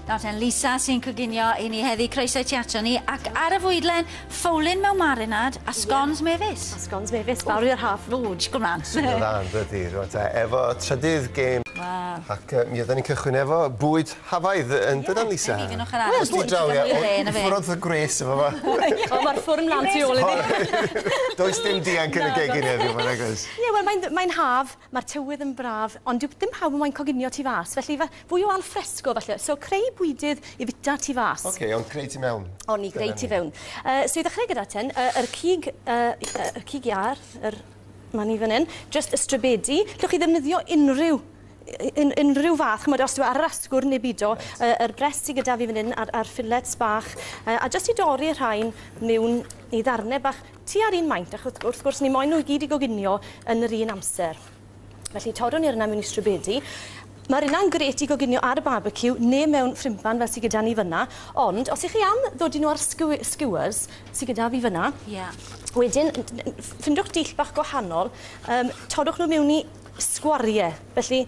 Nawr ten, Lisa sy'n coginio i ni heddi, croeso i ti ato ni, ac ar y fwydlen, ffowlyn mewn marinad a sgons mefus. A sgons mefus, fawr i'r haf. Ww, disgwyl mlaen. Swnio dda, yn dydi, rwan te. Efo trydydd gêm. Waw. Ac mi oedden ni'n cychwyn efo bwyd hafaidd, yn dydan, Lisa? Ie, yn ochr arall. Wel, bwyd draw, ie. Ffwrdd y gwres efo fo. O, mae'r ffwrn mlaen tu ôl i fi. Does dim dianc yn y gegin heddiw, mae'n agos. Ie, wel, mae'n mae haf, mae'r tywydd yn braf, ond dyw ddim pawb yn moyn coginio tu fas, felly fwy o al fresco, falle. So, creu bwydydd i fita tu fas. Oce, ond creu tu mewn. O'n i greu tu fewn. So i ddechrau gyda ten, yr cig, y cig iâr, yr ma' ni fan 'yn, jyst y strybedi. Llwch chi ddefnyddio unrhyw unrhyw fath, ch'mod, os dyw e ar yr asgwrn neu bido, yr brest sy gyda fi fan 'yn a'r a'r fillets bach, a jyst i dorri y rhain miwn i ddarne bach tua'r un maint, achos wrth gwrs ni moyn nhw i gyd i goginio yn yr un amser. Felly torrwn ni'r yna mewn i strybedi. Mae'r yna'n grêt i goginio ar y barbeciw neu mewn ffrimpan fel sy gyda ni fyna, ond os 'ych chi am ddod i nhw ar skewers sy gyda fi fyna, wedyn ffindwch dull bach gwahanol, torrwch nhw mewn i sgwarie. Felly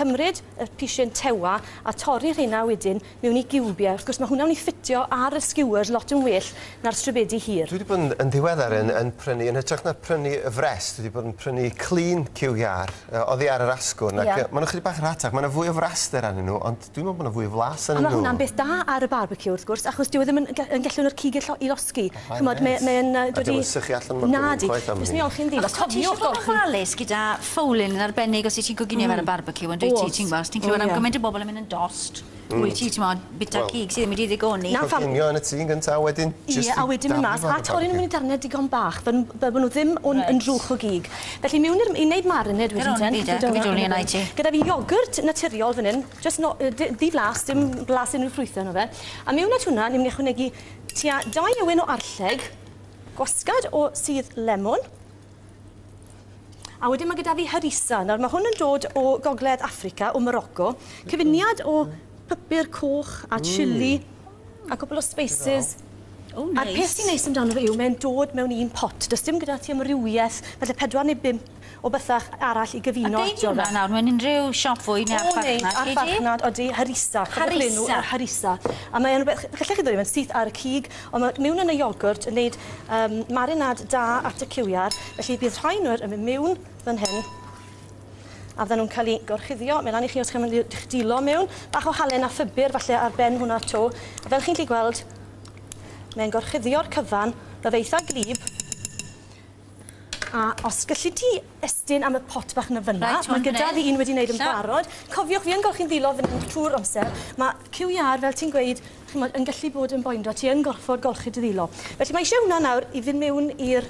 cymryd y pisyn tewa a torri rheina wedyn mewn i giwbie. Wrth gwrs mae hwnna'n mynd i ffitio ar y skewers lot yn well na'r strybedi hir. Dwi wedi bod yn, yn ddiweddar yn prynu, yn hytrach na prynu y frest, dwi wedi bod yn prynu clun cyw iâr oddi ar yr asgwrn, ac maen nhw chydig bach yn rhatach, mae yna fwy o fraster arnyn nhw, ond dwi'n meddwl bod yna fwy o flas arnyn nhw. A mae hwnna'n beth da ar y barbeciw wrth gwrs, achos dyw e ddim yn, yn gallu nhw'r cig i losgi. Ch'mod, mae'n dod i... A dim sychu allan mor Na di. Jyst mi olchi'n ddiflas. Cofiwch golchi. Ti'n ofalus gyda ffowlyn yn arbennig os wyt ti'n coginio fe ar y barbeciw, yn dwyt ti, ti'n gweld, ti'n clywed am gymaint o bobl yn mynd yn dost. Wyt ti, ti'n modd, bita cig sydd ddim wedi ddigoni. Coginio yn y tŷ yn gyntaf, wedyn jyst i a wedyn mynd mas, a torri nhw mewn i darnau digon bach, fel bod nhw ddim yn drwch o gig. Felly mewn i'r, i wneud marinade wedyn ten. Gyda fi iogwrt naturiol fan hyn, jyst no, ddiflas, dim blas unrhyw ffrwythau yno fe. A mewn at hwnna, ni'n mynd i ychwanegu tua 2 ewin o arlleg, gwasgad o sudd lemon, a wedyn mae gyda fi harissa. Nawr mae hwn yn dod o Gogledd Affrica, o Morocco. Cyfuniad o pupur coch a chili a cwpl o spices. O, neis. A'r peth sy'n neis amdano fe yw mae'n dod mewn un pot. Does dim gyda ti amrywiaeth, falle 4 neu 5 o bethach arall i gyfuno ato fe. A gei di hwnna nawr mewn unrhyw siop fwyd neu archfarchnad? O, neu archfarchnad, odi, harissa. Harissa. Harissa. A mae'n rhywbeth, gallech chi ddod i fe'n syth ar y cig, ond mae mewn yn y iogwrt yn neud marinad da at y cywiar, felly bydd rhai nhw yn mynd mewn fan hyn, a fydden nhw'n cael eu gorchuddio. Mae lan i chi os chi'n mynd i'ch dilo mewn. Bach o halen a phupur falle ar ben hwnna to. A fel chi'n gallu gweld, mae'n gorchuddio'r cyfan, mae fe eitha glib. A os gallu ti estyn am y pot bach na fyna, Reit, mae gyda fi un wedi wneud yn barod. Cofiwch, fi yn golchi'n ddilo fan hyn trwy'r amser. Mae cyw iâr, fel ti'n gweud, ch'mod, yn gallu bod yn boendo. Ti yn gorfod golchi dy ddilo. Felly mae eisiau hwnna nawr i fynd mewn i'r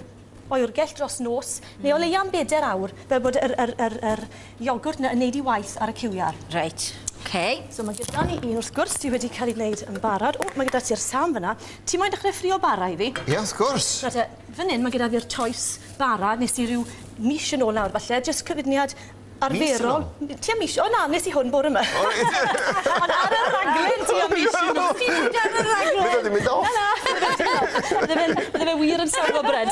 oergell dros nos, neu o leia am 4 awr, fel bod yr iogwrt yna yn neud i waith ar y cyw iâr. Reit, oce. So mae gyda ni un wrth gwrs sydd wedi cael ei wneud yn barod. O, mae gyda ti'r sam fyna. Ti moyn dechrau ffrio bara i fi? Ie, wrth gwrs. Nawr te, fan hyn mae gyda fi'r toes bara, nes i ryw mis yn ôl nawr falle, jyst cyfuniad arferol. Tua mis, o na, nes i hwn bore yma. Ond ar y raglen tua mis yn ôl. Ti'n mynd ar y raglen? Bydd o 'di mynd off. Na, na. Bydde fe wir yn safo bred.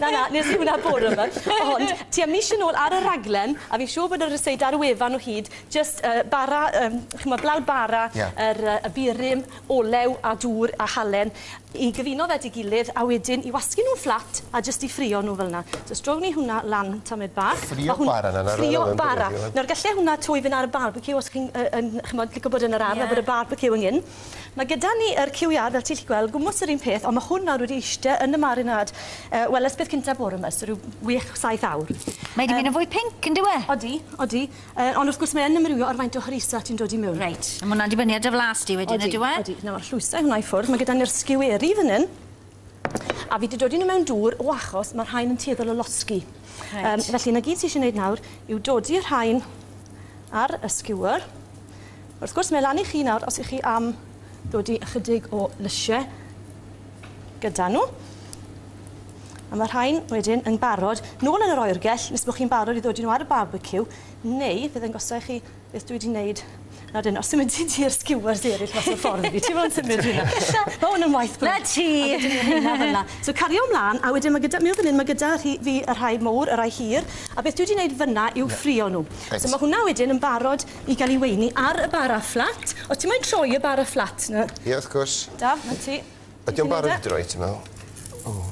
Na, na, nes i hwnna bore yma. Ond tua mis yn ôl ar y raglen, a fi'n siŵr bod yr ryseid ar y wefan o hyd, jyst bara, ch'mod, blawd bara, y burum, olew a dŵr a halen, i gyfuno fe at ei gilydd, a wedyn i wasgu nhw'n fflat a jyst i ffrio nhw fel yna. So strown ni hwnna lan tamed bach. Ffrio bara na, Ffrio bara. Nawr gallai hwnna twy fynd ar y barbeciw os chi'n ch'mod, licio bod yn yr ardd a bod y barbeciw yng nghyn. Mae gyda ni yr cyw iâr, fel ti'n gallu gweld, gwmws yr un peth, ond mae hwn nawr wedi eistedd yn y marinad, wel, ers beth cynta bore yma, so rhyw 6-7 awr. Mae wedi mynd yn fwy pinc, yn dyw e? Odi, odi. Ond wrth gwrs mae yn amrywio ar faint o harissa ti'n dod i mewn. Reit, a ma' hwnna'n dibynnu ar dy flas di wedyn, ydyw e? Odi, odi. Nawr, llwysau hwnna i ffwrdd. Mae gyda ni'r sgiweri fan hyn. A fi wedi dod i nhw mewn dŵr o achos mae'r rhain yn tueddol o losgi. Felly, na gyd ti eisiau gwneud nawr yw dodi'r rhain ar y skewer. Wrth gwrs, mae lan i chi nawr os ych chi am ddodi ychydig o lysiau gyda nhw. A mae rhain wedyn yn barod nôl yn yr oergell nes bod chi'n barod i ddodi nhw ar y barbeciw, neu fydd yn gosod i chi beth dwi wedi wneud Nawr dyn, os ti'n mynd i'r skewers eraill mas o'r ffordd i fi, ti'n fod yn symud hynna. Mae hwn yn waith Na ti! So cario ymlaen, a wedyn mae gyda, mi fan hyn, mae gyda fi y rhai mowr, y rhai hir, a beth dwi wedi gwneud fyna yw ffrio nhw. So mae hwnna wedyn yn barod i gael ei weini ar y bara fflat. O, ti'n moyn troi y bara fflat na? Ie, wrth gwrs. Daf, na ti. Ydy o'n barod i droi, ti'n meddwl?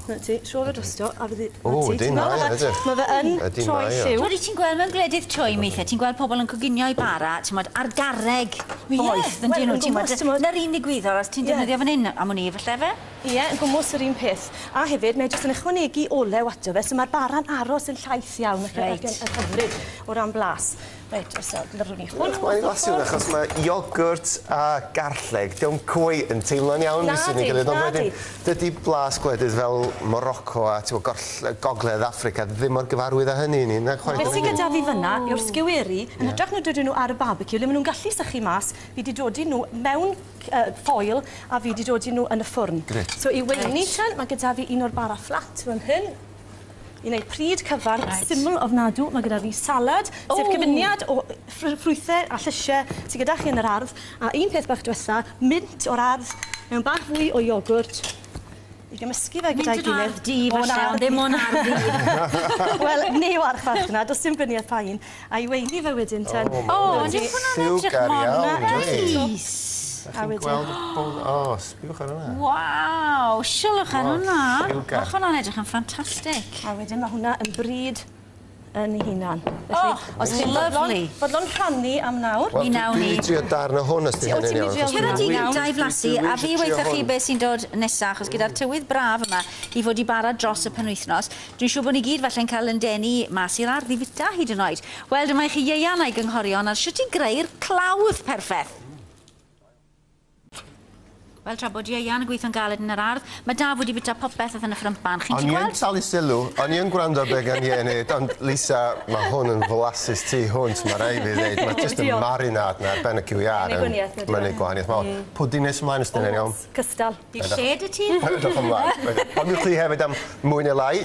Na ti, tro fe drosto, a fyddi... O, ydy, mae, ydy. Mae fe yn troi lliw. Twyd, ti'n gweld mewn gwledydd twym weithiau, ti'n gweld pobl yn coginio i bara, ti'n modd, ar garreg boeth, yn dyn nhw, ti'n modd, na'r un ddigwyddodd os ti'n defnyddio fan hyn am wn i, falle fe? Ie, yn gwmws yr un peth. A hefyd, mae jyst yn ychwanegu olew ato fe, so mae'r bara'n aros yn llaith iawn ac yn hyfryd o ran blas. Reit, os lyrwn ni hwn. Mae'n lasu hwn achos mae iogwrt a garlleg, dio'm cweit yn teimlo'n iawn. Na di, na di. Dydy blas gwledydd fel Morocco a Gogledd Affrica ddim mor gyfarwydd â hynny i ni. Beth sy'n gyda fi fyna yw'r sgeweri, yn hytrach na dodyn nhw ar y barbecue, le maen nhw'n gallu sychu mas, fi wedi dodi nhw mewn ffoil a fi wedi dodi nhw yn y ffwrn. So i weini ten, mae gyda fi un o'r bara fflat fan hyn. I wneud pryd cyfan, syml ofnadw, mae gyda fi salad, sef cyfuniad o ffrwythau a llysiau sydd gyda chi yn yr ardd, a un peth bach diwetha, mint o'r ardd, mewn bach fwy o iogwrt, i gymysgu fe gyda'i gilydd. Mint o'n ardd di, falle, ond ddim o'n ardd i. Wel, neu ardd farchnad, does dim gwaniaeth pa un. A i weini fe wedyn ten. O, ond yw hwnna'n edrych mor neis. A chi'n gweld y bwl... O, sbiwch ar hwnna. Waw, sylwch ar hwnna. Mae hwnna'n edrych yn ffantastig. A wedyn mae hwnna yn bryd yn ei hunan. Oh, os chi'n fodlon rhannu am nawr. Wel, dwi wedi trio darn o hwn os di hynny'n iawn. Cera di gynta i flasu, a fi weithoch chi beth sy'n dod nesaf, achos gyda'r tywydd braf yma i fod i bara dros y penwythnos, dwi'n siŵr bod ni gyd falle'n cael yn denu mas i'r ardd i fita hyd yn oed. Wel, dyma i chi Ieuan a'i gynghorion ar sut i greu'r clawdd perffaith. Wel, tra bod Ieuan yn gweithio'n galed yn yr ardd, mae Daf wedi bwyta popeth oedd yn y ffrympan. Chi'n gweld? O'n i yn talu sylw, o'n i yn gwrando ar be gan Ieuan neud, ond Lisa, mae hwn yn flasus tu hwnt, mae rhaid fi ddeud. Mae jyst y marinade na ar ben y cyw iâr. Mae'n gwaniaeth. Mae'n neud gwahaniaeth mawr. Pwdin nes ymlaen os dyn ni'n iawn. Cystal. Di lle dy ti? Edrych ymlaen. Ond chi hefyd am mwy neu lai.